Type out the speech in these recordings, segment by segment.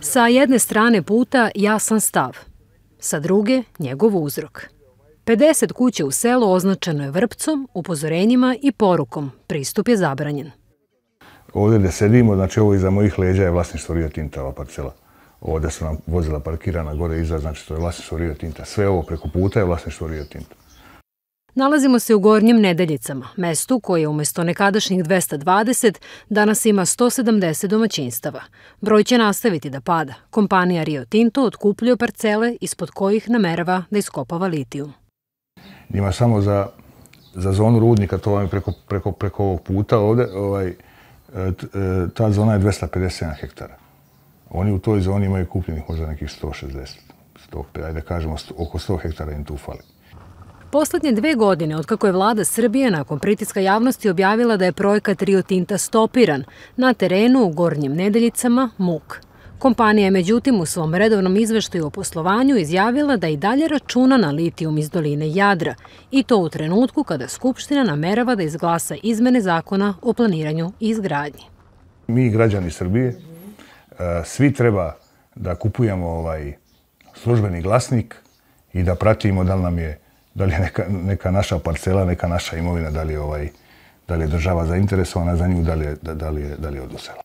Sa jedne strane puta jasan stav, sa druge njegov uzrok. 50 kuća u selu označeno je vrpcom, upozorenjima i porukom. Pristup je zabranjen. Ovdje gdje sedimo, znači ovo iza mojih leđa je vlasništvo Rio Tinta, ova parcela. Ovdje su nam vozila parkirana gore iza, znači to je vlasništvo Rio Tinta. Sve ovo preko puta je vlasništvo Rio Tinta. Nalazimo se u Gornjim Nedeljicama, mestu koje umjesto nekadašnjih 220 danas ima 170 domaćinstava. Broj će nastaviti da pada. Kompanija Rio Tinto otkupljuje parcele ispod kojih namerava da iskopava litijum. Njima samo za zonu rudnika, to vam je preko ovog puta ovdje, ta zona je 257 hektara. Oni u toj zoni imaju kupljenih možda nekih 160, 105, ajde kažemo oko 100 hektara im tu fali. Poslednje 2 godine, otkako je vlada Srbije nakon pritiska javnosti objavila da je projekat Rio Tinta stopiran, na terenu u Gornjim Nedeljicama muk. Kompanija je međutim u svom redovnom izveštaju o poslovanju izjavila da i dalje računa na litijum iz doline Jadra, i to u trenutku kada Skupština namerava da izglasa izmene zakona o planiranju i izgradnji. Mi, građani Srbije, svi treba da kupujemo službeni glasnik i da pratimo da li je neka naša parcela, neka naša imovina, da li je država zainteresovana za nju, da li je oduzela.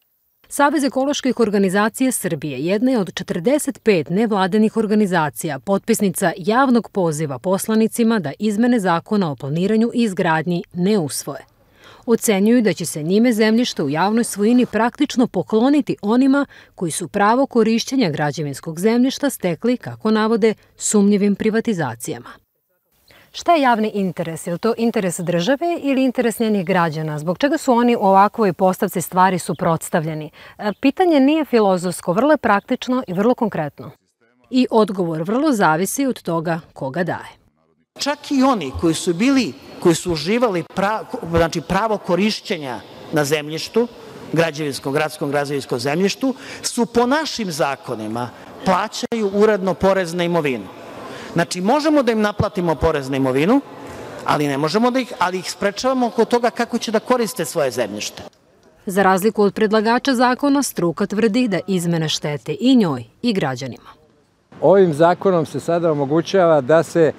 Savez ekoloških organizacija Srbije jedna je od 45 nevladinih organizacija, potpisnica javnog poziva poslanicima da izmene zakona o planiranju i izgradnji ne usvoje. Ocenjuju da će se njime zemljište u javnoj svojini praktično pokloniti onima koji su pravo korišćenja građevinskog zemljišta stekli, kako navode, sumnjivim privatizacijama. Šta je javni interes? Je li to interes države ili interes njenih građana? Zbog čega su oni u ovakvoj postavci stvari suprotstavljeni? Pitanje nije filozofsko, vrlo je praktično i vrlo konkretno. I odgovor vrlo zavisi od toga koga daje. Čak i oni koji su uživali pravo korišćenja na zemljištu, gradskom građevinskom zemljištu, su po našim zakonima plaćaju uredno porez na imovinu. Znači, možemo da im naplatimo porez na imovinu, ali ne možemo ali ih sprečavamo oko toga kako će da koriste svoje zemljište. Za razliku od predlagača zakona, struka tvrdi da izmene štete i njoj i građanima. Ovim zakonom se sada omogućava da se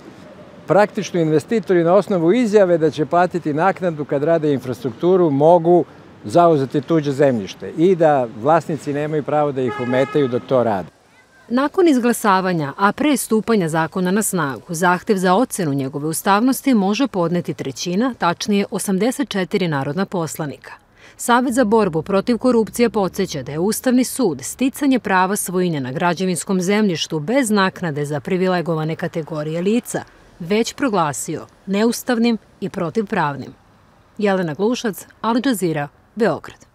praktično investitori na osnovu izjave da će platiti naknadu kad rade infrastrukturu mogu zauzeti tuđe zemljište i da vlasnici nemaju pravo da ih ometaju dok to rade. Nakon izglasavanja, a pre stupanja zakona na snagu, zahtev za ocenu njegove ustavnosti može podneti trećina, tačnije 84 narodna poslanika. Savet za borbu protiv korupcije podsjeća da je Ustavni sud sticanje prava svojine na građevinskom zemljištu bez naknade za privilegovane kategorije lica već proglasio neustavnim i protivpravnim. Jelena Glušac, Al Jazeera, Beograd.